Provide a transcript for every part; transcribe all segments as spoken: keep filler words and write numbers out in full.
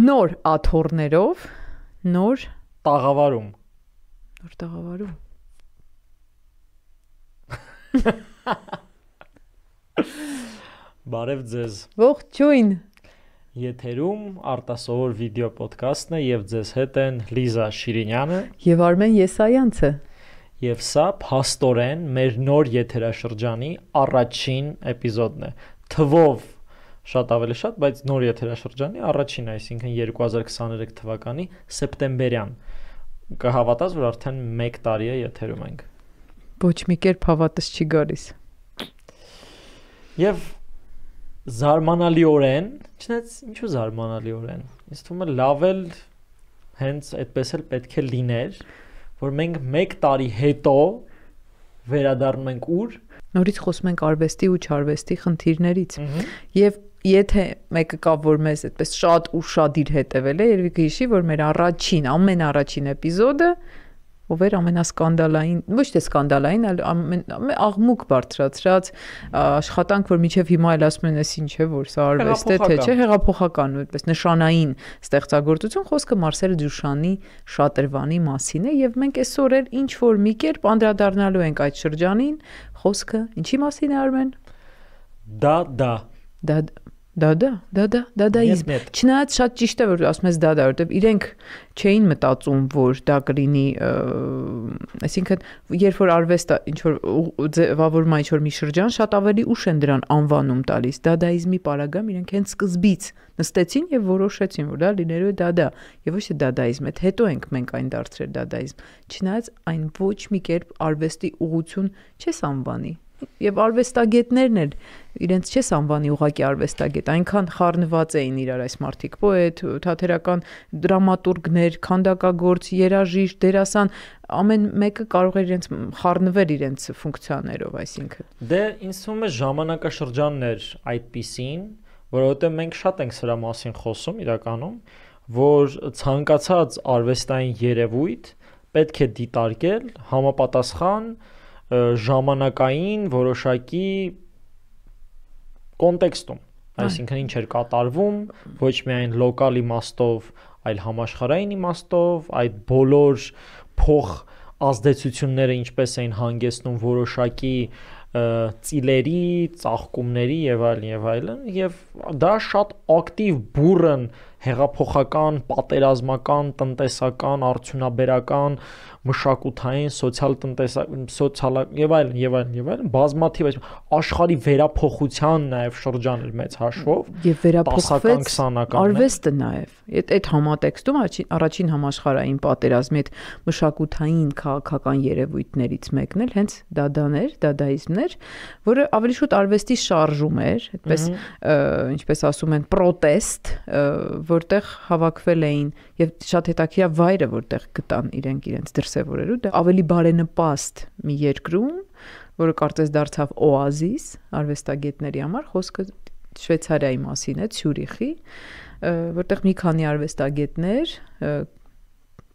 Նոր աթոռներով, նոր տաղավարում։ Նոր տաղավարում։ Բարև ձեզ։ Ողջույն։ Եթերում արտասովոր վիդեո ոդքասթն է եւ ձեզ հետ են Լիզա Շիրինյանը եւ Արմեն Եսայանցը։ Եվ սա փաստորեն մեր նոր եթերաշրջանի առաջին էպիզոդն է։ Թվով շատ ավելի շատ, բայց նոր եթերաշրջանի առաջին, այսինքն երկու հազար քսաներեք թվականի սեպտեմբերյան։ Կհավատաս, որ արդեն մեկ տարի է եթերում ենք։ Ոչ մի կերպ հավատս չի գալիս։ Եվ զարմանալիորեն, չնայած ինչու զարմանալիորեն, ինձ թվում է լավ էլ հենց այդպես էլ պետք է լիներ, որ մենք մեկ տարի հետո վերադառնում ենք ուր նորից խոսում ենք արվեստի ու չարվեստի խնդիրներից։ Եվ եթե մեկը կա, որ մեզ այդպես շատ ու շատ իր հետևել է, երևի կհիշի, որ մեր առաջին, ամենաառաջին էպիզոդը ով էր ամենասկանդալային, ոչ թե սկանդալային, այլ աղմուկ բարձրացրած աշխատանք, որ մինչև հիմա էլ ասում են, էս ինչ է, որ սա արվեստ է, թե չէ, հեղափոխական ու այդպես նշանային ստեղծագործություն, խոսքը Մարսել Դյուշանի շատրվանի մասին է, եւ մենք այսօր էլ ինչ որ մի կերպ անդրադառնալու ենք այդ շրջանին, խոսքը ինչի մասին է, Արմեն։ Դա դա Դա Դա դա, դա դա, դադայիզմ։ Չնայած շատ ճիշտ է, որ ասում ես դա դա, որովհետև իրենք չէին մտածում, որ դա կլինի, այսինքն երբ որ արվեստը ինչ որ ձևավորում է ինչ որ մի շրջան, շատ ավելի ուշ են դրան անվանում տալիս։ Դադայիզմի պարագայում իրենք հենց սկզբից նստեցին եւ որոշեցին, որ դա լինելու է դադա, եւ ոչ թե դադայիզմ, այդ հետո ենք մենք այն դարձրել դադայիզմ։ Չնայած այն ոչ մի կերպ արվեստի ուղղություն չես անվանի։ Եվ արվեստագետներն էլ իրենց չես անվանի ուղղակի արվեստագետ, այնքան խառնված էին իրար այս մարդիկ, պոետ, թատերական դրամատուրգներ, քանդակագործ, երաժիշտ, դերասան, ամեն մեկը կարող է իրենց խառնվել իրենց ֆունկցիաներով, այսինքն։ Դե ինձ թվում է ժամանակաշրջանն էր այդպիսին, որովհետև մենք շատ ենք սրա մասին խոսում իրականում, որ ցանկացած արվեստային երևույթ պետք է դիտարկել համապատասխան ժամանակային որոշակի կոնտեքստում, այսինքն ինչ էր կատարվում, ոչ միայն լոկալ իմաստով, այլ համաշխարհային իմաստով, այդ բոլոր փոխ ազդեցությունները ինչպես էին հանգեցնում որոշակի ծիլերի, ծաղկումների եւ այլն եւ այլն, եւ դա շատ ակտիվ բուրըն հեղափոխական, պատերազմական, տնտեսական, արդյունաբերական, մշակութային, սոցիալ-տնտեսական, սոցիալ եւ այլն եւ այլն եւ այլն բազմաթիվ այս աշխարհի վերափոխության նաեւ շրջան էր մեծ հաշվով եւ վերափոխվեց արվեստը նաեւ այդ այդ համատեքստում առաջին համաշխարհային պատերազմի այդ մշակութային քաղաքական երևույթներից մեկն էլ հենց դադաներ, դադայիզմներ, որը ավելի շուտ արվեստի շարժում էր, այդպես ինչպես ասում են պրոտեստ, որտեղ հավաքվել էին եւ շատ հետաքրքիր վայրը, որտեղ գտան իրենք իրենց դրսևորելու, դա ավելի բարենպաստ մի երկրում, որը կարծես դարձավ օազիս արվեստագետների համար, խոսքը Շվեյցարիայի մասին է, Ցյուրիխի, որտեղ մի քանի արվեստագետներ,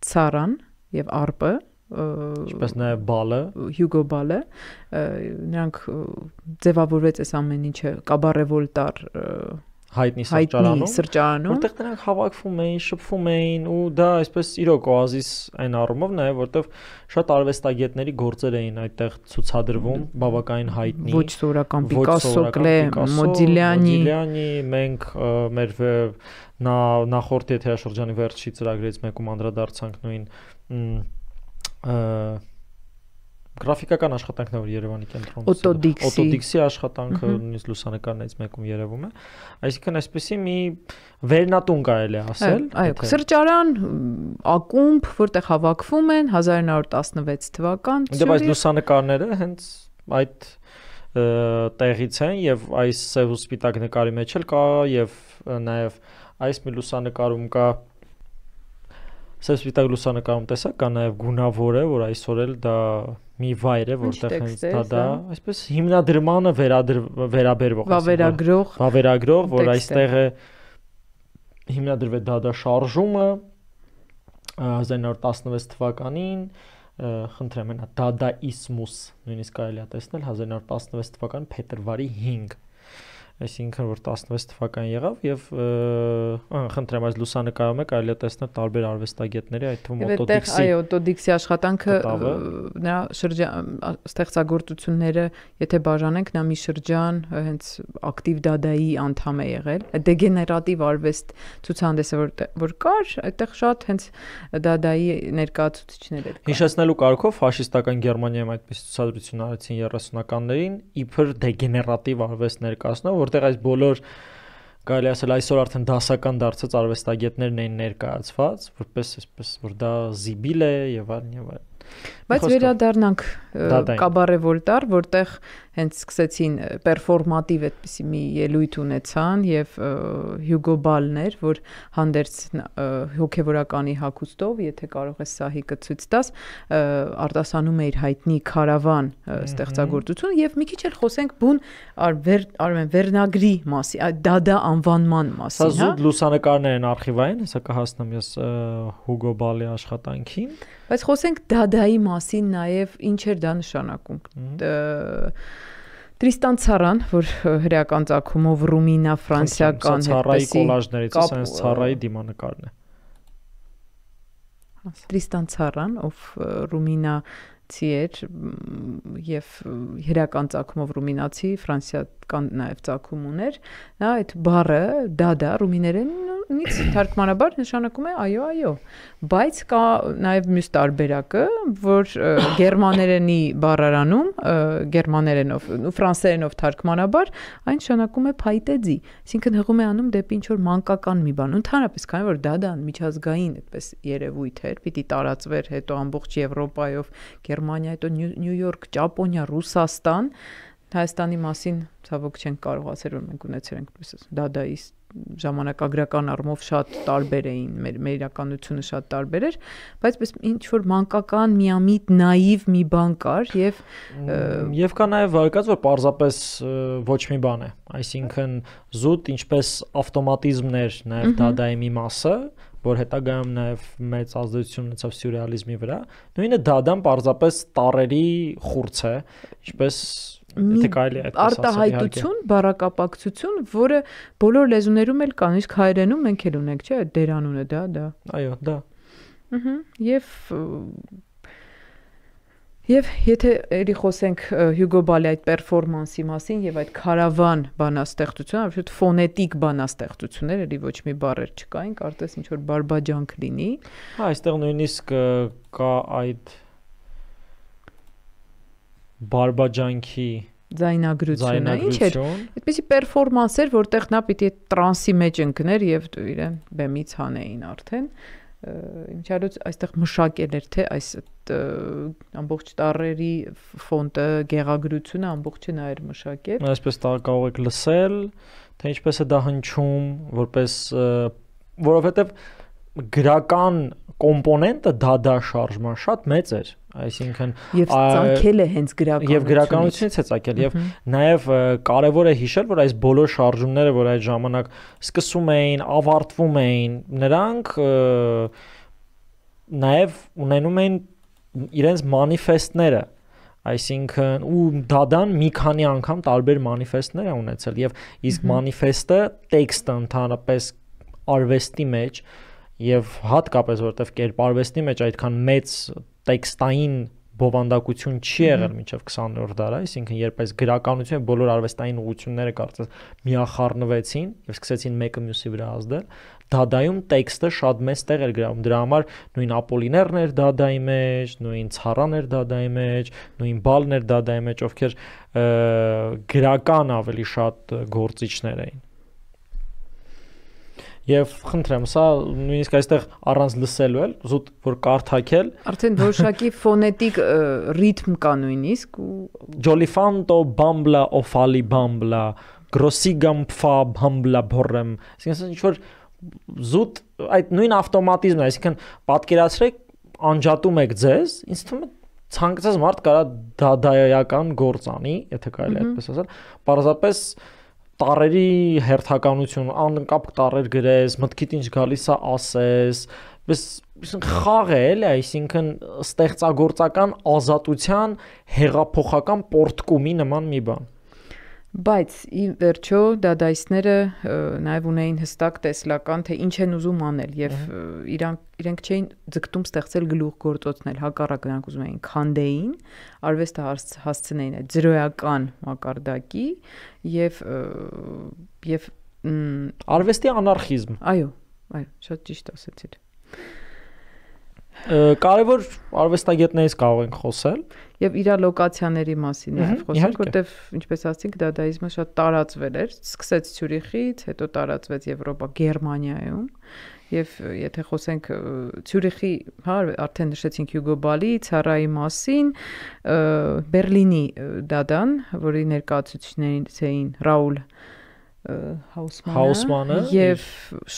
Ցարան եւ Արպը, ինչպես նաեւ Բալը, Հյուգո Բալը, նրանք ձևավորվեց այս ամեն ինչը Կաբարե Վոլտար հայտնի սրճարանում, սրճարանում, որտեղ նրանք հավաքվում էին, շփվում էին ու դա այսպես իրոք օազիս այն առումով նաև, որտեղ շատ արվեստագետների գործեր էին այդտեղ ցուցադրվում, բավականին հայտնի, ոչ սովորական Պիկասո, Կլե, Մոդիլյանի, Մոդիլյանի, մենք մեր նա նախորդ եթերաշրջանի վերջի ծրագրից մեկում անդրադարձանք նույն գրաֆիկական աշխատանքն որ Երևանի կենտրոնում օտոդիքսի աշխատանքը նույնիսկ լուսանկարներից մեկում երևում է, այսինքն այսպեսի մի վերնատուն կարելի է ասել, այո, սրճարան, ակումբ, որտեղ հավաքվում են հազար ինը հարյուր տասնվեց թվական, դե բայց լուսանկարները հենց այդ տեղից են եւ այս սև ու սպիտակ նկարի մեջ էլ կա եւ նաեւ այս մի լուսանկարում կա սև սպիտակ լուսանկարում տեսա կա նաեւ գունավորը, որ այսօր էլ դա մի վայր է, որտեղ հենց դա դա այսպես հիմնադրմանը վերաբերվող վավերագրող վավերագրող, որ այստեղ է հիմնադրվել դա դա շարժումը հազար ինը հարյուր տասնվեց թվականին, խնդրեմ նա դադաիզմուս նույնիսկ կարելի է տեսնել հազար ինը հարյուր տասնվեց թվականի փետրվարի հինգ այսինքն որ տասնվեց թվական եղավ եւ խնդրեմ այս լուսանկարում եք այլ է տեսնել տարբեր արվեստագետների այդ թվում Օտոդիքսի այո Օտոդիքսի աշխատանքը նրա շրջան ստեղծագործությունները եթե բաժանենք նա մի շրջան հենց ակտիվ դադայի անդամ է եղել դեգեներատիվ արվեստ ցուցահանդեսը որ որ կար այդտեղ շատ հենց դադայի ներկայացուցիչներ էր հիշեցնելու կարգով ֆաշիստական Գերմանիայում այդպես ցուցադրություն արեցին երեսունականներին իբր դեգեներատիվ արվեստ ներկայացնող որտեղ այս բոլոր կարելի ասել այսօր արդեն դասական դարձած արվեստագետներն էին ներկայացված որպես այսպես որ դա զիբիլ է եւ այլն եւ այլն Բայց վերադառնանք Կաբարե Վոլտար, որտեղ հենց սկսեցին պերֆորմատիվ այդպիսի մի ելույթ ունեցան եւ Հյուգո Բալներ, որ հանդերձ հոգեվորականի հագուստով, եթե կարող ես սահիկը ցույց տաս, արտասանում է իր հայտնի Քարավան ստեղծագործությունը եւ մի քիչ էլ խոսենք բուն Արմեն Վերնագրի մասին, Դադա անվանման մասին, հա։ Սա զուտ լուսանկարներ են արխիվային, հեսա կհասնեմ ես Հյուգո Բալի աշխատանքին Բայց խոսենք դադայի մասին նաև ինչ էր դա նշանակում։ Տրիստան Ցարան, որ հրեական ծագումով ռումինա ֆրանսիական Ցարայի կոլաժներից է, sense Ցարայի դիմանկարն է։ Տրիստան Ցարան, ով ռումինացի էր եւ հրեական ծագումով ռումինացի, ֆրանսիական նաև ծագում ուներ, նա այդ բառը դադա ռումիներեն Նից թարգմանաբար նշանակում է այո, այո, բայց կա նաև մյուս տարբերակը, որ գերմաներենի բառարանում, գերմաներենով, ֆրանսերենով թարգմանաբար, այն նշանակում է փայտեձի, այսինքն հղում է անում դեպի ինչ-որ մանկական մի բան, ընդհանրապես քանի որ դադան միջազգային այդպես երևույթ էր, պիտի տարածվեր հետո ամբողջ Եվրոպայով, Գերմանիա, հետո Նյու Յորք, Ճապոնիա, Ռուսաստան, Հայաստանի մասին ցավոք չենք կարող ասել, որ մենք ունեցել ենք այդպես դադայի ժամանակագրական առումով շատ տարբեր էին, մեր մեր իրականությունը շատ տարբեր էր, բայց պես ինչ որ մանկական միամիտ նաիվ մի բան կար եւ եւ կա նաեւ վարկած որ պարզապես ոչ մի բան է, այսինքն զուտ ինչպես ավտոմատիզմներ նաեւ դադայի մի մասը, որ հետագայում նաեւ մեծ ազդեցություն ունեցավ սյուրռեալիզմի վրա, նույնը դադան պարզապես տարերի խուրձ է, ինչպես Եթե կարելի է այդպես ասել, արտահայտություն, բառակապակցություն, որը բոլոր լեզուներում էլ կան, իսկ հայերենում մենք էլ ունենք, չէ՞, դերանունը դա, դա։ Այո, դա։ Ահա, եւ Եվ եթե ելի խոսենք Հյուգո Բալի այդ պերֆորմանսի մասին եւ այդ Քարավան բանաստեղծությունը, absolute ֆոնետիկ բանաստեղծություններ, ելի ոչ մի բառեր չկային, կարծես ինչ որ բարբաջանք լինի։ Հա, այստեղ նույնիսկ կա այդ բարբաջանքի ձայնագրությունը, ինչ էր, այդպեսի պերֆորմանս էր, որտեղ նա պիտի տրանսի մեջ ընկներ եւ իրեն բեմից հանեին արդեն։ Ինչալուց այստեղ մշակել էր թե այս ամբողջ տառերի ֆոնտը, գեղագրությունը ամբողջը նա էր մշակել։ Այսպես կարող եք լսել, թե ինչպես է դա հնչում, որպես որովհետեւ գրական կոմպոնենտը դադա շարժման շատ մեծ էր, այսինքն եւ ցանկել է հենց գրականությունից եւ գրականությունից է ցանկել եւ նաեւ կարեւոր է հիշել որ այս բոլոր շարժումները որ այդ ժամանակ սկսում էին, ավարտվում էին, նրանք նաեւ ունենում էին իրենց մանիֆեստները, այսինքն ու դադան մի քանի անգամ տարբեր մանիֆեստներ է ունեցել եւ իսկ մանիֆեստը տեքստը ընդհանրապես արվեստի մեջ եւ հատկապես որտեվ կերպարվեստի մեջ այդքան մեծ տեքստային բովանդակություն չի եղել մինչև քսաներորդ դարը, այսինքն երբ այս գրականությունը բոլոր արվեստային ուղղությունները կարծես միախառնվեցին եւ սկսեցին մեկը մյուսի վրա ազդել, դադայում տեքստը շատ մեծ տեղ էր գրավում, դրա համար նույն Ապոլիներն էր դադայի մեջ, նույն Ցարան էր դադայի մեջ, նույն Բալն էր դադայի մեջ, ովքեր գրական ավելի շատ գործիչներ էին։ Եվ խնդրեմ, սա նույնիսկ այստեղ առանց լսելու էլ, զուտ որ կարդակել, արդեն որոշակի ֆոնետիկ ռիթմ կա նույնիսկ ու Jolifanto bambla ofali bambla grossigam pfa bambla borrem, այսինքն ինչ որ զուտ այդ նույն ավտոմատիզմն է, այսինքն պատկերացրեք անջատում եք ձեզ, ինձ թվում է ցանկացած մարդ կարա դադայական գործ անի, եթե կարելի է այդպես ասել, պարզապես տարերի հերթականություն, անկապ տարեր գրես, մտքիդ ինչ գալիս է ասես, պես խաղ է, էլի, այսինքն ստեղծագործական ազատության հեղափոխական պորտկումի նման մի բան։ Բայց ի վերջո դադայիստները նաև ունեին հստակ տեսլական, թե ինչ են ուզում անել եւ իրանք իրենք չէին ձգտում ստեղծել գլուխ գործոցնել, հակառակը նրանք ուզում էին քանդեին, արվեստը հասցնեին այդ զրոյական մակարդակի եւ եւ արվեստի անարխիզմ։ Այո, այո, շատ ճիշտ ասացիք։ Կարևոր արվեստագետներից կարող ենք խոսել եւ իր լոկացիաների մասին նաեւ խոսենք, որտեվ ինչպես ասացինք, դադայիզմը շատ տարածվել էր, սկսեց Ցյուրիխից, հետո տարածվեց Եվրոպա, Գերմանիայում եւ եթե խոսենք Ցյուրիխի, հա, արդեն նշեցինք Հյուգո Բալի, Ցարայի մասին, Բերլինի դադան, որի ներկայացուցիչներից էին Ռաուլ Հաուսմանը եւ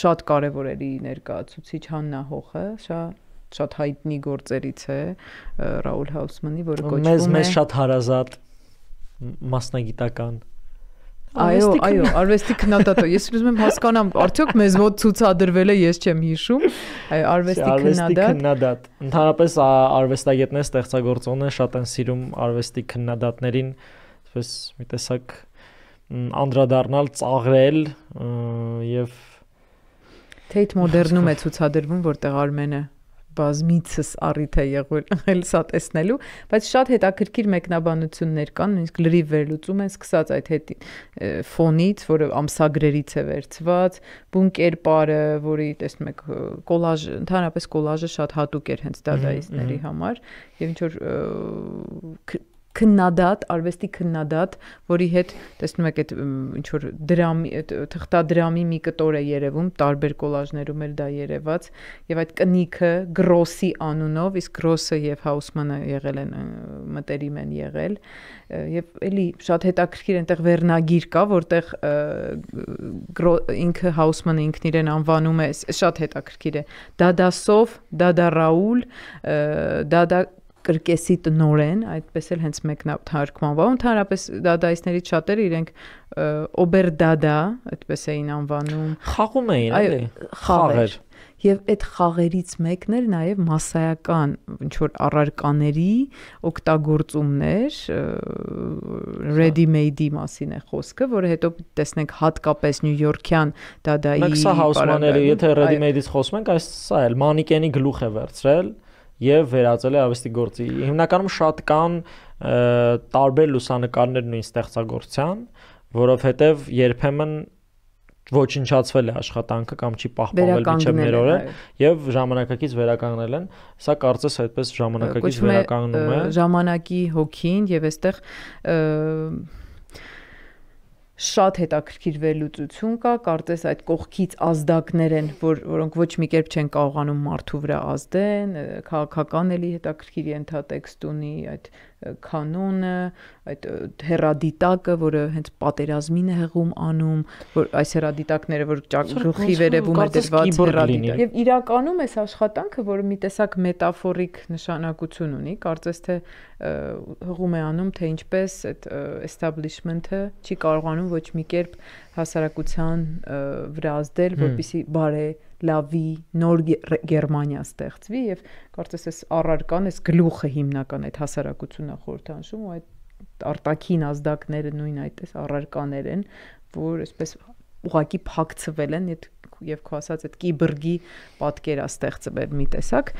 շատ կարևոր էր ներկայացուցիչ Հաննա Հոխը, շատ շատ հայտնի գործերից է Ռաուլ Հաուսմանի, որը կոչվում է մեզ մեզ շատ հարազատ մասնագիտական։ Այո, այո, արվեստի քննադատը։ Ես ուզում եմ հասկանամ, արդյոք մեզ մոտ ցուցադրվել է, ես չեմ հիշում։ Այո, արվեստի քննադատ։ Ընդհանրապես արվեստագետները, ստեղծագործողները շատ են սիրում արվեստի քննադատներին, այսպես մի տեսակ անդրադառնալ, ծաղրել եւ Tate Modern-ում է ցուցադրվում, որտեղ Արմենը բազմիցս առիթ է եղել սա տեսնելու, բայց շատ հետաքրքիր մեկնաբանություններ կան, նույնիսկ լրիվ վերլուծում են սկսած այդ հետ ֆոնից, որը ամսագրերից է վերցված, բուն կերպարը, որի տեսնում եք կոլաժ, ընդհանրապես կոլաժը շատ հատուկ էր հենց դադայիստների համար, եւ ինչ որ քննադատ, արվեստի քննադատ, որի հետ տեսնում եք այդ ինչ որ դրամի, թղթադրամի մի կտոր է երևում, տարբեր կոլաժներում էլ դա երևաց, եւ այդ կնիքը Գրոսի անունով, իսկ Գրոսը եւ Հաուսմանը եղել են մտերիմ են եղել, եւ էլի շատ հետաքրքիր այնտեղ վերնագիր կա, որտեղ ինքը Հաուսմանը ինքն իրեն անվանում է, շատ հետաքրքիր է, Դադասով, Դադա Ռաուլ, Դադա կրկեսի տնորեն, այդպես էլ հենց մեկնաթարգմանվա, ընդհանրապես դադայիստներից շատերը իրենք օբերդադա, այդպես էին անվանում, խաղում էին, էլի, խաղեր։ Եվ այդ խաղերից մեկն էր նաև մասսայական ինչ որ առարկաների օգտագործումներ, ready-made-ի մասին է խոսքը, որը հետո տեսնենք հատկապես նյույորքյան դադայի։ Մենք սա Հաուսմանների, եթե ready-made-ից խոսում ենք, այս սա էլ մանիկենի գլուխ է վերցրել եւ վերածել է արվեստի գործի։ Հիմնականում շատ կան տարբեր լուսանկարներ նույն ստեղծագործության, որովհետեւ երբեմն ոչնչացվել է աշխատանքը կամ չի պահպանվել մինչև մեր օրը եւ ժամանակակից վերականգնել են։ Սա կարծես այդպես ժամանակակից վերականգնում է ժամանակի հոգին եւ այստեղ շատ հետաքրքիր վերլուծություն կա, կարծես այդ կողքից ազդակներ են, որ որոնք ոչ մի կերպ չեն կարողանում մարդու վրա ազդեն, քաղաքական էլի հետաքրքիր ենթատեքստ ունի, այդ կանոնը, այդ հերադիտակը, որը հենց պատերազմին է հեղում անում, որ այս հերադիտակները, որ գլխի վերևում է դրված հերադիտակ։ Եվ իրականում այս աշխատանքը, որը մի տեսակ մետաֆորիկ նշանակություն ունի, կարծես թե հղում է անում, թե ինչպես այդ establishment-ը չի կարողանում ոչ մի կերպ հասարակության վրա ազդել, որպեսզի բարե լավի նոր Գերմանիա ստեղծվի եւ կարծես այս առարկան, այս գլուխը հիմնական այդ հասարակությունը խորհրդանշում ու այդ արտաքին ազդակները նույն այդպես առարկաներ են, որ այսպես ուղակի փակցվել են եւ քո ասած այդ կիբրգի պատկերա ստեղծվել մի տեսակ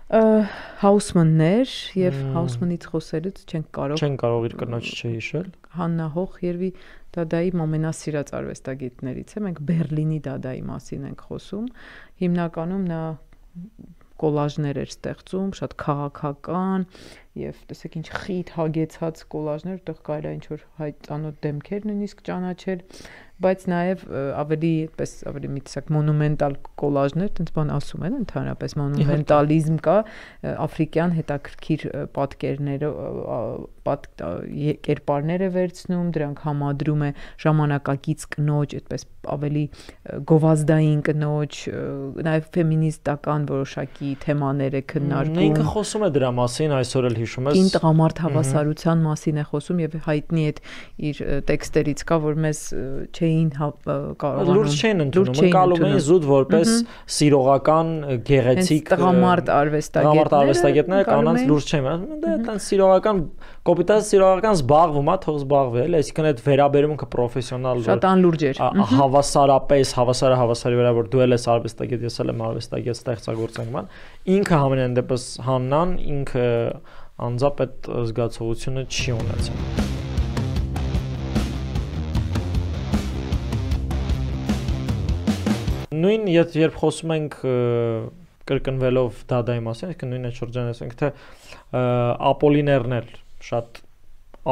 Հաուսմաններ եւ Հաուսմանից խոսելուց չենք կարող չեն կարող իր կնոջ չհիշել Հաննա Հոխ երևի դադայի ամենասիրած արվեստագետներից է մենք Բերլինի դադայի մասին ենք խոսում հիմնականում նա կոլաժներ էր ստեղծում շատ քաղաքական եւ տեսեք ինչ խիտ հագեցած կոլաժներ որտեղ կարելի է ինչ որ հայտանոտ դեմքեր նույնիսկ ճանաչել բայց նաև ավելի այդպես ավելի մի տեսակ մոնումենտալ կոլաժներ, տենց բան ասում են, ընդհանրապես մոնումենտալիզմ կա, աֆրիկյան հետաքրքիր պատկերները, կերպարներ է վերցնում, դրանք համադրում է ժամանակակից կնոջ, այդպես ավելի գովազդային կնոջ, նաև ֆեմինիստական որոշակի թեմաներ է քննարկում։ Ինքը խոսում է դրա մասին, այսօր էլ հիշում ես։ Կին տղամարդ հավասարության մասին է խոսում եւ հայտնի այդ իր տեքստերից կա, որ մեզ չէին կարողանում լուրջ չէին ընդունում, ընկալում էին զուտ որպես սիրողական գեղեցիկ տղամարդ արվեստագետներ։ Տղամարդ արվեստագետները կանանց լուրջ չէին, դա այդտեղ սիրողական կոպիտած սիրողական զբաղվում է, թող զբաղվի, էլի, այսինքն այդ վերաբերմունքը պրոֆեսիոնալ շատ անլուրջ էր։ Հավասարապես, հավասարը հավասարի վրա, որ դու էլ ես արվեստագետ, ես էլ եմ արվեստագետ, ստեղծագործենք ման, ինքը համենայն դեպս Հաննան ինքը անձամբ այդ զգացողությունը չի ունեցել։ Նույն երբ խոսում ենք կրկնվելով դադայի մասին, այսինքն նույն այդ շրջանը ասենք թե ապոլիներներ շատ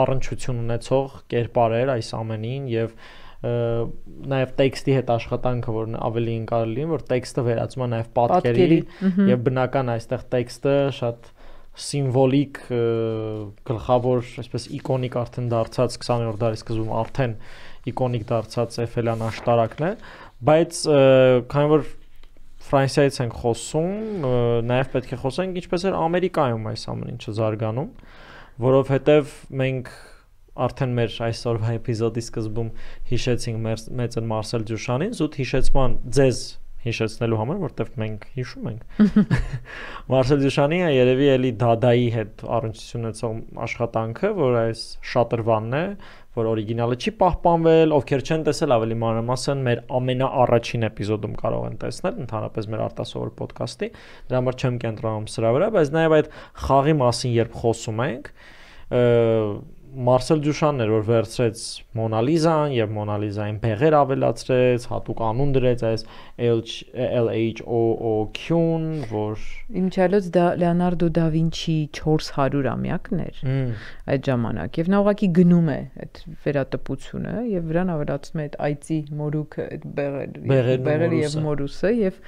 առնչություն ունեցող կերպարեր այս ամենին եւ նաև տեքստի հետ աշխատանքը, որ ավելի ընկալելի է, որ տեքստը վերածում է նաև պատկերի եւ բնական այստեղ տեքստը շատ սիմվոլիկ գլխավոր, այսպես իկոնիկ արդեն դարձած քսաներորդ դարի սկզբում արդեն իկոնիկ դարձած Էֆելյան աշտարակն է, բայց քանի որ Ֆրանսիայից ենք խոսում, նաև պետք է խոսենք ինչպես էր Ամերիկայում այս ամեն ինչը զարգանում, որովհետև մենք արդեն մեր այսօրվա էպիզոդի սկզբում հիշեցինք մեծն Մարսել Դյուշանին, զուտ հիշեցման ձեզ հիշեցնելու համար, որտեղ մենք հիշում ենք։ Մարսել Դյուշանի երևի էլի դադայի հետ առնչություն ունեցող աշխատանքը, որ այս շատրվանն է, որ օրիգինալը չի պահպանվել, ովքեր չեն տեսել ավելի մանրամասն մեր ամենաառաջին էպիզոդում կարող են տեսնել, ընդհանրապես մեր արտասովոր ոդքասթի, դրա համար չեմ կենտրոնում սրա վրա, բայց նաև այդ խաղի մասին երբ խոսում ենք, Մարսել Դյուշանն էր, որ վերցրեց Մոնալիզան եւ Մոնալիզային բեղեր ավելացրեց, հատուկ անուն դրեց այս L H O O Q-ն, որ Իմչալոց դա Լեոնարդո դա Վինչի չորս հարյուրամյակն էր այդ ժամանակ եւ նա ուղղակի գնում է այդ վերատպությունը եւ վրան ավելացնում է այդ այծի մորուքը, այդ բեղերը, բեղերը եւ մորուսը եւ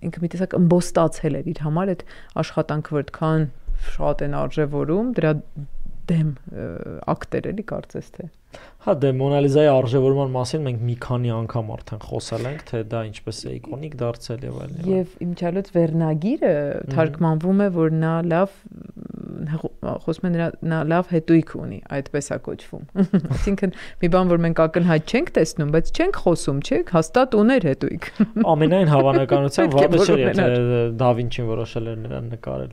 ինքը մի տեսակ ըմբոստացել էր իր համար այդ աշխատանքը, որ այդքան շատ են արժևորում, դրա դեմ ակտեր էլի կարծես թե։ Հա, դե Մոնալիզայի արժևորման մասին մենք մի քանի անգամ արդեն խոսել ենք, թե դա ինչպես է իկոնիկ դարձել եւ այլն։ Եվ իմչալոց վերնագիրը թարգմանվում է, որ նա լավ խոսում է նա լավ հետույք ունի, այդպես է կոչվում։ Այսինքն մի բան, որ մենք ակնհայտ չենք տեսնում, բայց չենք խոսում, չէ՞, հաստատ ուներ հետույք։ Ամենայն հավանականությամբ վաղը չէր, եթե Դա Վինչին որոշել էր նրան նկարել։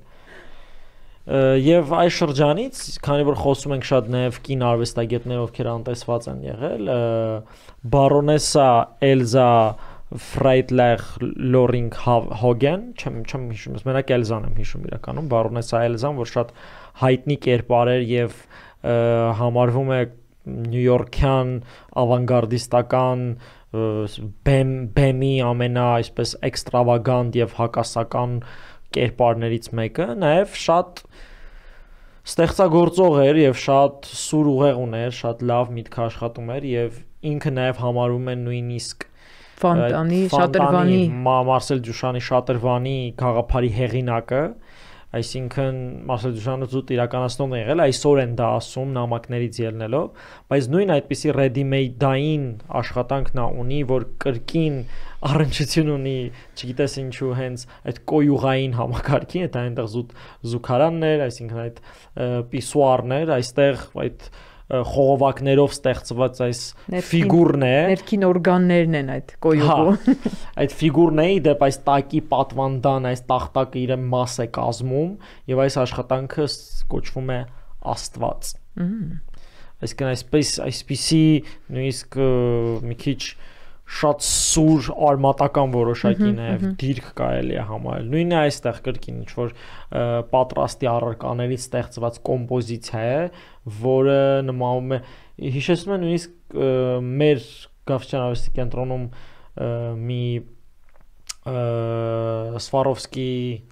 Եվ այս շրջանից, քանի որ խոսում ենք շատ նաև կին արվեստագետներ, ովքեր անտեսված են եղել, բարոնեսա Էլզա Ֆրայդլեր Լորինգ Հոգեն, չեմ չեմ հիշում, մենակ Էլզան եմ հիշում իրականում, բարոնեսա Էլզան, որ շատ հայտնի կերպար էր եւ համարվում է նյույորքյան ավանգարդիստական բեմ բեմի ամենա այսպես էքստրավագանտ եւ հակասական կերպարներից մեկը, նաև շատ ստեղծագործող էր եւ շատ սուր ուղեղ ուներ, շատ լավ միտք աշխատում էր եւ ինքը նաև համարվում է նույնիսկ Ֆանտանի, Շատրվանի, Մարսել Դյուշանի Շատրվանի գաղափարի հեղինակը, այսինքն Մարսել Դյուշանը զուտ իրականացնողն է եղել, այսօր են դա ասում նամակներից ելնելով, բայց նույն այդպիսի ready-made-ային աշխատանքն ունի, որ կրկին առնչություն ունի, չգիտես ինչու հենց այդ կոյուղային համակարգին, այդ այնտեղ զուտ զուգարաններ, այսինքն այդ պիսուարներ, այստեղ այդ խողովակներով ստեղծված այս ֆիգուրն է, ներքին օրգաններն են այդ կոյուղը։ Այդ ֆիգուրն է, դեպ այս տակի պատվանդան, այս տախտակը իր մաս է կազմում եւ այս աշխատանքը կոչվում է Աստված։ Այսինքն այսպես այսպիսի նույնիսկ մի քիչ շատ սուր արմատական որոշակի նաև դիրք կարելի է համարել։ Նույնն է այստեղ կրկին ինչ որ պատրաստի առարկաներից ստեղծված կոմպոզիցիա է, որը նմանում է հիշեցնում է նույնիսկ մեր Գավթյան արվեստի կենտրոնում մի Սվարովսկի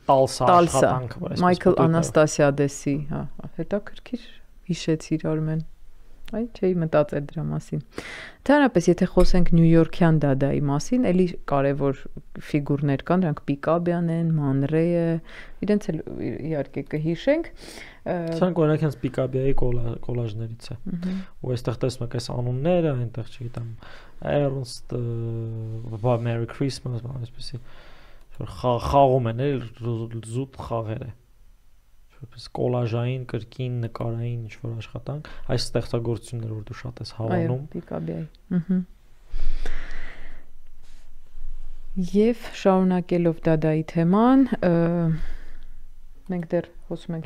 Տալսա աշխատանքը, Մայքլ Անաստասիադեսի, հա, հետաքրքիր հիշեցիր Արմեն։ Այ չէի մտածել դրա մասին։ Ընդհանրապես, եթե խոսենք նյույորքյան դադայի մասին, էլի կարևոր ֆիգուրներ կան, դրանք Պիկաբյան են, Մանրեյը, իրենց էլ իհարկե կհիշենք։ Սրանք օրինակ հենց Պիկաբյայի կոլաժներից է։ Ու այստեղ տեսնում եք այս անունները, այնտեղ չգիտեմ, Ernst, Merry Christmas, այսպեսի խաղում են, էլ զուտ խաղեր է։ որպես կոլաժային, կրկին, նկարային ինչ-որ աշխատանք, այս ստեղծագործությունները, որ դու շատ ես հավանում։ Այո, Պիկաբիայի։ Ահա։ Եվ շարունակելով Դադայի թեման, մենք դեռ խոսում ենք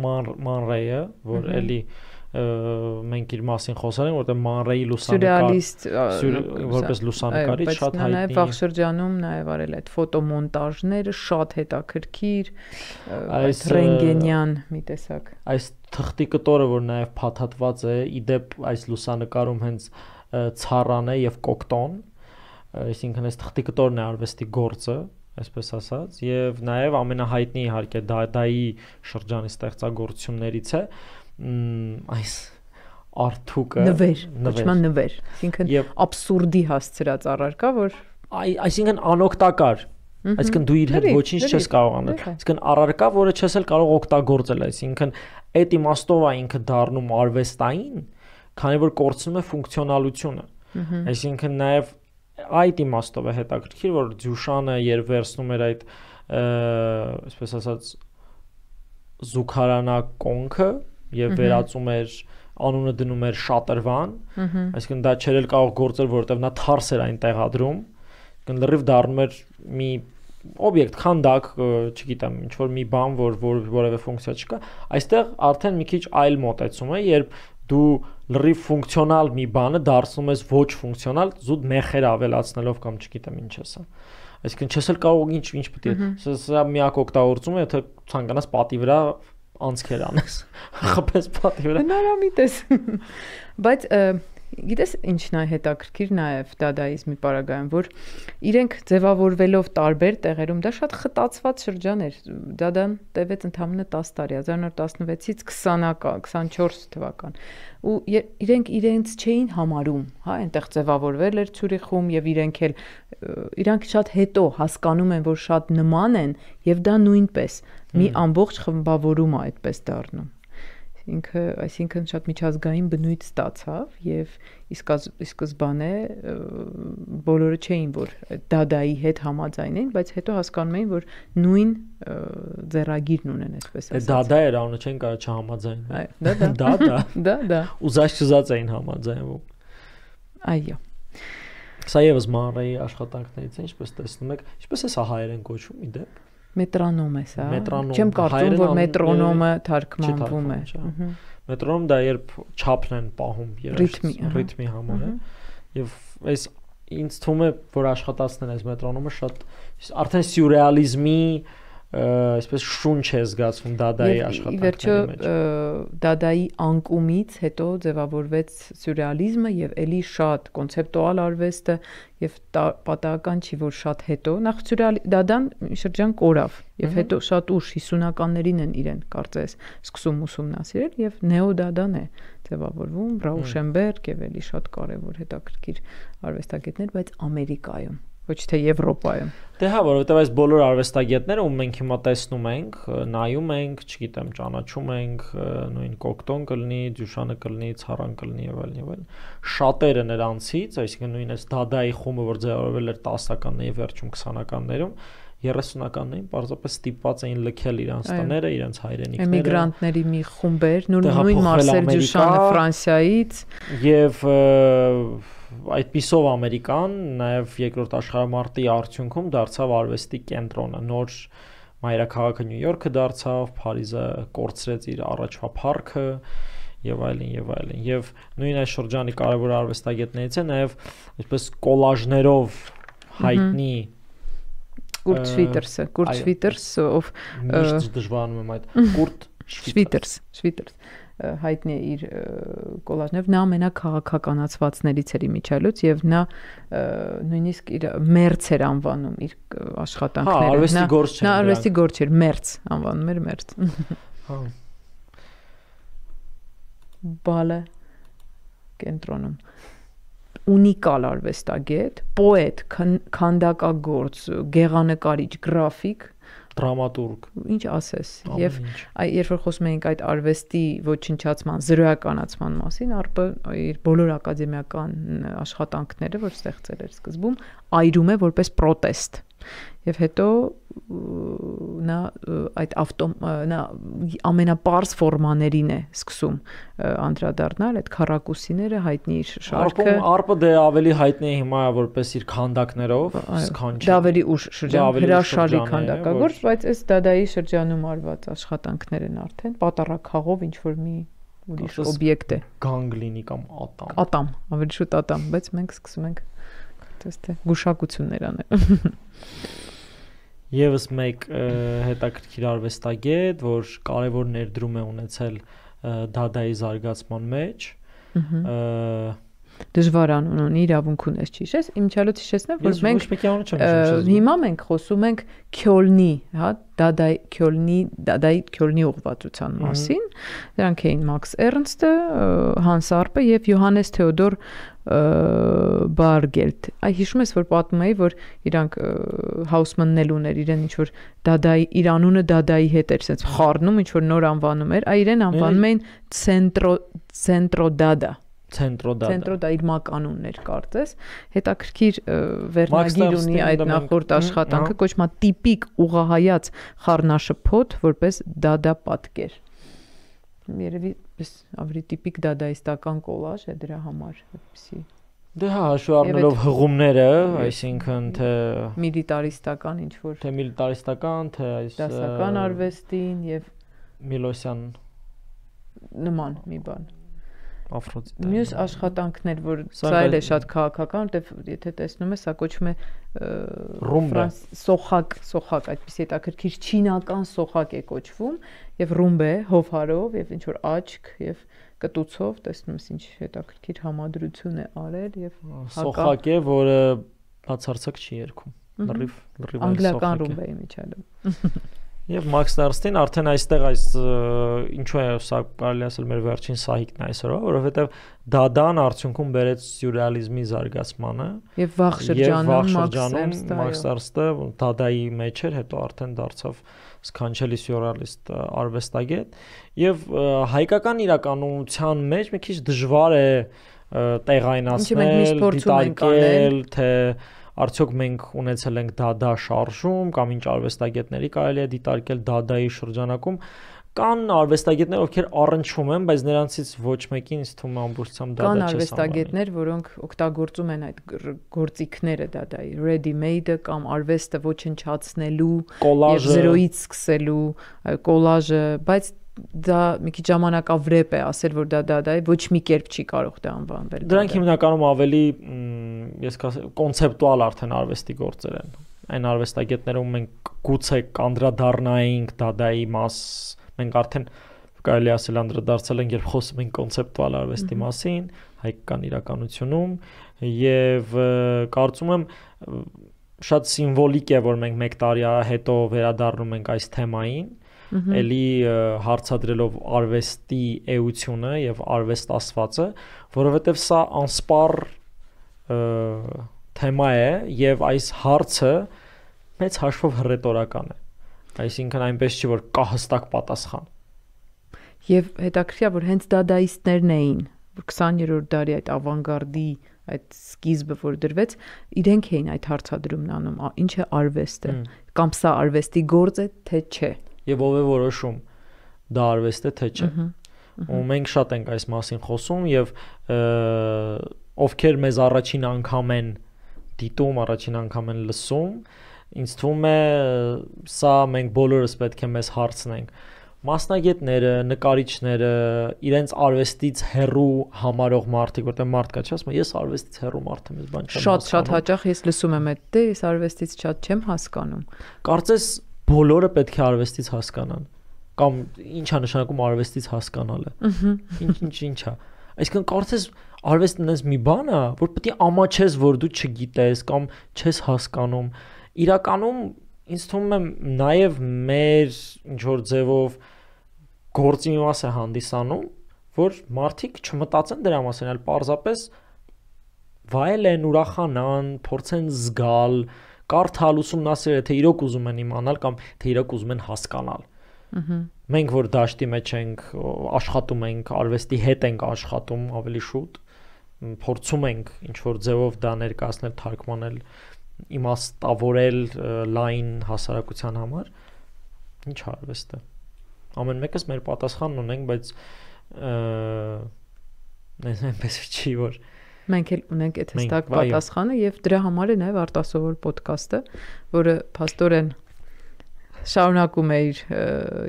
Man Ray-ը, որ էլի մենք իր մասին խոսել ենք, որտեղ Man Ray-ի լուսանկար, որպես լուսանկարիչ շատ հայտնի։ Նաև վաղ շրջանում նաև արել այդ ֆոտոմոնտաժները, շատ հետաքրքիր, այդ ռենտգենյան մի տեսակ։ Այս թղթի կտորը, որ նաև փաթաթված է, իդեպ այս լուսանկարում հենց ցառան է եւ կոկտոն, այսինքն այս թղթի կտորն է արվեստի գործը, այսպես ասած, եւ նաեւ ամենահայտնի իհարկե Դադայի շրջանի ստեղծագործություններից է այս արթուկը, նվեր, կոչման նվեր, այսինքն աբսուրդի հասցրած առարկա, որ այսինքն անօգտակար, այսինքն դու իր հետ ոչինչ չես կարող անել, այսինքն առարկա, որը չես էլ կարող օգտագործել, այսինքն այդ իմաստով է ինքը դառնում արվեստային, քանի որ կորցնում է ֆունկցիոնալությունը, այսինքն նաեւ այդ իմաստով է հետաքրքիր, որ Դյուշանը երբ վերցնում էր այդ, այսպես ասած, զուգարանակոնքը եւ վերածում էր, անունը դնում էր շատրվան, այսինքն դա չէր էլ կարող գործել, որովհետեւ նա թարս էր այն տեղադրում, այսինքն լրիվ դառնում էր մի օբյեկտ, քանդակ, չգիտեմ, ինչ որ մի բան, որ որևէ ֆունկցիա չկա, այստեղ արդեն մի քիչ այլ մոտեցում է, երբ դու լրիվ ֆունկցիոնալ մի բանը դարձնում ես ոչ ֆունկցիոնալ, զուտ մեխեր ավելացնելով կամ չգիտեմ ինչ է սա։ Այսինքն չես էլ կարող ինչ ինչ պետք է։ Սա միակ օգտագործումը, եթե ցանկանաս պատի վրա անցքեր անես։ Խփես պատի վրա։ Հնարամիտ ես։ Բայց գիտես ինչն է հետաքրքիր նաև դադայիզմի պարագայում, որ իրենք ձևավորվելով տարբեր տեղերում, դա շատ խտացված շրջան էր։ Դադան տևեց ընդամենը տասը տարի, հազար նոր տասնվեցից քսանչորս թվական։ Ու իրենք իրենց չէին համարում, հա, այնտեղ ձևավորվել էր Ցյուրիխում եւ իրենք էլ իրանք շատ հետո հասկանում են, որ շատ նման են եւ դա նույնպես մի ամբողջ խմբավորում է այդպես դառնում։ Ինքը, այսինքն շատ միջազգային բնույթ ստացավ եւ իսկ սկզբանե բոլորը չէին, որ Դադայի հետ համաձայն էին, բայց հետո հասկանում էին, որ նույն ձեռագիրն ունեն, այսպես ասած։ Դադա էր անունը, չեն կարող չհամաձայնել։ Դա դա։ Դա դա դա։ Ուզած-չուզած էին համաձայնվում։ Այո։ Սա եւս Man Ray-ի աշխատանքներից է, ինչպես տեսնում եք, ինչպես է սա հայերեն կոչվում իդեպ։ Մետրոնոմ է սա։ Չեմ կարծում, որ մետրոնոմը թարգմանվում է։ Մետրոնոմ դա երբ չափն են պահում ռիթմի համար է։ Եվ այս ինձ թվում է, որ աշխատացնել այս մետրոնոմը շատ արդեն սյուրռեալիզմի այսպես շունչ է զգացվում Դադայի աշխատանքների մեջ։ Դադայի անկումից հետո ձևավորվեց սյուրռեալիզմը եւ ելի շատ կոնցեպտուալ արվեստը եւ պատահական չի, որ շատ հետո նախ Դադան շրջան կորավ եւ հետո շատ ուշ հիսունականներին են իրեն կարծես սկսում ուսումնասիրել եւ նեոդադան է ձևավորվում, Ռաուշենբերգ եւ ելի շատ կարեւոր հետաքրքիր արվեստագետներ, բայց Ամերիկայում ոչ թե Եվրոպայում։ Դե հա, որովհետև այս բոլոր արվեստագետները, ում մենք հիմա տեսնում ենք, նայում ենք, չգիտեմ, ճանաչում ենք, նույն Կոկտոն կլինի, Դյուշանը կլինի, Ցառան կլինի եւ այլն եւ այլն։ Շատերը նրանցից, այսինքն նույն այս Դադայի խումբը, որ ձևավորվել էր տասականների վերջում քսանականներում, երեսունականներին պարզապես ստիպված էին լքել իրանց տները, իրենց հայրենիքները։ Էմիգրանտների մի խումբ էր, նույն Մարսել Դյուշանը Ֆրանսիայից եւ այդպիսով Ամերիկան նաև երկրորդ աշխարհամարտի արդյունքում դարձավ արվեստի կենտրոնը, նոր մայրաքաղաքը Նյու Յորքը դարձավ, Փարիզը կորցրեց իր առաջվա փառքը եւ այլն եւ այլն։ Եվ նույն այս շրջանի կարևոր արվեստագետներից է նաև այսպես կոլաժներով հայտնի Կուրտ Շվիտերսը, Կուրտ Շվիտերսը, ով միշտ դժվարանում եմ այդ Կուրտ Շվիտերս, Շվիտերս հայտնի է իր կոլաժներով, նա ամենաքաղաքականացվածներից էր իմիջայլոց եւ նա նույնիսկ իր մերց էր անվանում իր աշխատանքները։ Հա, արվեստի գործ չէ։ Նա արվեստի գործ չէր, մերց անվանում էր մերց։ Հա։ Բալը կենտրոնում ունիկալ արվեստագետ, պոետ, քանդակագործ, գեղանկարիչ, գրաֆիկ, դրամատուրգ, ինչ ասես, եւ երբ որ խոսում ենք այդ արվեստի ոչնչացման, զրոյականացման մասին, ԱՌՊ-ը իր բոլոր ակադեմիական աշխատանքները, որ ստեղծել էր սկզբում, այրում է որպես պրոտեստ, Եվ հետո նա այդ ավտո նա ամենապարզ ֆորմաներին է սկսում անդրադառնալ, այդ քառակուսիները հայտնի իր շարքը։ Արպը դե ավելի հայտնի է հիմա որպես իր քանդակներով, սքանչը։ Դա ավելի ուշ շրջան, հրաշալի քանդակագործ, բայց այս դադայի շրջանում արված աշխատանքներ են արդեն պատառաքաղով ինչ որ մի ուրիշ օբյեկտ է։ Գանգլինի կամ ատամ։ Ատամ, ավելի շուտ ատամ, բայց մենք սկսում ենք դե գուշակություններ անել։ Եվս մեկ հետաքրքիր արվեստագետ, որ կարևոր ներդրում է ունեցել դադայի զարգացման մեջ, դժվար անուն ունի, իրավունք ունես ճիշտ, իմչալոց հիշեցնեմ, որ մենք հիմա մենք խոսում ենք Քյոլնի, հա, դադայի Քյոլնի, դադայի Քյոլնի ուղղվածության մասին, դրանք էին Մաքս Էրնստը, Հանս Արպը եւ Յոհանես Թեոդոր Բարգելտ։ Այ հիշում ես, որ պատմում էի, որ իրանք Հաուսմանն էլ ուներ իրեն ինչ որ դադայի իր անունը դադայի հետ էր, ասես խառնում, ինչ որ նոր անվանում էր, այ իրեն անվանում էին Ցենտրո Ցենտրո դադա։ Ցենտրո դադա։ Ցենտրո դա իր մականունն էր, կարծես։ Հետաքրքիր վերնագիր ունի այդ նախորդ աշխատանքը, կոչվում է տիպիկ ուղղահայաց խառնաշփոթ, որպես դադա պատկեր։ Երևի ավելի տիպիկ դադայիստական կոլաժ է դրա համար, այդպեսի։ Դե հա, հաշվի առնելով հղումները, այսինքն թե միլիտարիստական ինչ որ թե միլիտարիստական, թե այս դասական արվեստին եւ Միլոսյան նման մի բան։ Աֆրոդիտա։ Մյուս աշխատանքներ, որ սա էլ է շատ քաղաքական, որտեվ եթե տեսնում ես, սա կոչվում է ֆրանս սոխակ, սոխակ, այդպես հետաքրքիր չինական սոխակ է կոչվում, եւ ռումբե հովհարով եւ ինչ որ աչք եւ կտուցով, տեսնում ես ինչ հետաքրքիր համադրություն է արել եւ սոխակ է, որը բացարձակ չի երգում։ Լրիվ լրիվ անգլիական ռումբե է միջալում։ Եվ Մաքս Էրնստին արդեն այստեղ այս ինչու է սա կարելի ասել մեր վերջին սահիկն է այսօրվա, որովհետև դադան արդյունքում բերեց սյուրռեալիզմի զարգացմանը եւ վաղ շրջանում Մաքս Էրնստը դադայի մեջ էր, հետո արդեն դարձավ սքանչելի սյուրռեալիստ արվեստագետ եւ հայկական իրականության մեջ մի քիչ դժվար է տեղայնացնել, դիտարկել, թե արդյոք մենք ունեցել ենք դադա շարժում կամ ինչ արվեստագետների կարելի է դիտարկել դադայի շրջանակում կան արվեստագետներ, ովքեր առնչվում են, բայց նրանցից ոչ մեկին ինձ թվում է ամբողջությամբ դադա չես անվանի։ Կան արվեստագետներ, որոնք օգտագործում են այդ գործիքները դադայի, ready made-ը կամ արվեստը ոչնչացնելու եւ զրոյից սկսելու կոլաժը, բայց դա մի քիչ ժամանակավրեպ է ասել, որ դա դադա է, ոչ մի կերպ չի կարող դա անվանվել։ Դրանք հիմնականում ավելի ես կասեմ կոնցեպտուալ արդեն արվեստի գործեր են։ Այն արվեստագետներում մենք գուցե կանդրադառնայինք դադայի մաս, մենք արդեն կարելի ասել անդրադարձել ենք, երբ խոսում ենք կոնցեպտուալ արվեստի մասին, հայկական իրականությունում, եւ կարծում եմ շատ սիմվոլիկ է, որ մենք մեկ տարի հետո վերադառնում ենք այս թեմային, էլի հարցադրելով արվեստի էությունը եւ արվեստ ասվածը, որովհետեւ սա անսպառ թեմա է եւ այս հարցը մեծ հաշվով հռետորական է։ Այսինքն այնպես չի որ կա հստակ պատասխան։ Եվ հետաքրքիր է որ հենց դադայիստներն էին, որ քսաներորդ դարի այդ ավանգարդի այդ սկիզբը որ դրվեց, իրենք էին այդ հարցադրումն անում, ինչ է արվեստը, կամ սա արվեստի գործ է, թե չէ։ Եվ ով է որոշում դա արվեստ է թե չէ։ Ու մենք շատ ենք այս մասին խոսում եւ ովքեր մեզ առաջին անգամ են դիտում, առաջին անգամ են լսում, ինձ թվում է սա մենք բոլորս պետք է մեզ հարցնենք։ Մասնագետները, նկարիչները, իրենց արվեստից հեռու համարող մարդիկ, որտեղ մարդ կա, չի ասում, ես արվեստից հեռու մարդ եմ, ես բան չեմ հասկանում։ Շատ շատ հաճախ ես լսում եմ այդ, դե ես արվեստից շատ չեմ հասկանում։ Կարծես բոլորը պետք է արվեստից հասկանան կամ ի՞նչ է նշանակում արվեստից հասկանալը։ Ինչ ինչ ինչ է։ Այսինքն կարծես արվեստն այնպես մի բան է, որ պետք է ամաչես, որ դու չգիտես կամ չես հասկանում։ Իրականում ինձ թվում է նաև մեր ինչ որ ձևով գործի մի մաս է հանդիսանում, որ մարդիկ չմտածեն դրա մասին, այլ պարզապես վայելեն, ուրախանան, փորձեն զգալ, կարդալ, ուսումնասիրել, թե իրոք ուզում են իմանալ կամ թե իրոք ուզում են հասկանալ։ Մենք որ դաշտի մեջ ենք, աշխատում ենք, արվեստի հետ ենք աշխատում ավելի շուտ, փորձում ենք ինչ որ ձևով դա ներկայացնել, թարգմանել իմաստավորել լայն հասարակության համար, ինչ արվեստ է։ Ամեն մեկս մեր պատասխանն ունենք, բայց այնպես չի որ մենք էլ ունենք այդ հստակ պատասխանը եւ դրա համար է նաեւ արտասովոր ոդքասթը, որը փաստորեն շարունակում է իր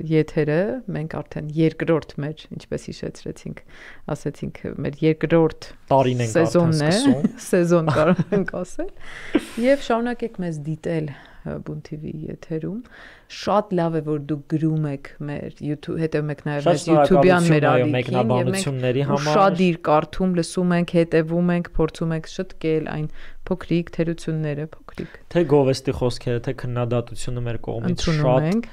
եթերը, մենք արդեն երկրորդ մեր, ինչպես հիշեցրեցինք, ասեցինք, մեր երկրորդ տարին ենք արդեն սկսում, սեզոն կարող ենք ասել, եւ շարունակեք մեզ դիտել Բուն թի վի եթերում, շատ լավ է որ դուք գրում եք մեր YouTube, հետևում եք նաեւ մեր YouTube-յան մեր ալիքին եւ մենք շատ իր կարդում, լսում ենք, հետևում ենք, փորձում ենք շտկել այն փոքրիկ թերությունները, փոքրիկ թե գովեստի խոսքերը, թե քննադատությունը մեր կողմից շատ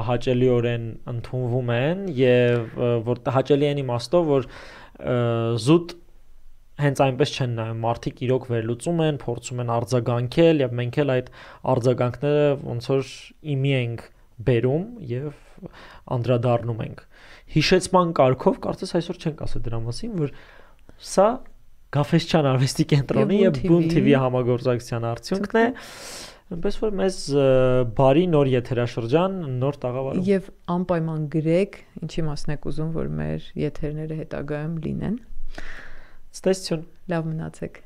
հաճելիորեն ընդունվում են եւ որ հաճելի են իմաստով որ զուտ հենց այնպես չեն նայում, մարդիկ իրոք վերլուծում են, փորձում են արձագանքել եւ մենք էլ այդ արձագանքները ոնց որ իմի ենք բերում եւ անդրադառնում ենք։ Հիշեցման կարգով կարծես այսօր չենք ասել դրա մասին, որ սա Գաֆեսչյան արվեստի կենտրոնի եւ Բուն թի վի համագործակցության արդյունքն է։ Այնպես որ մեզ բարի նոր եթերաշրջան, նոր տաղավարում։ Եվ անպայման գրեք, ինչի մասն եք ուզում, որ մեր եթերները հետագայում լինեն։ Ստեսություն։ Լավ մնացեք։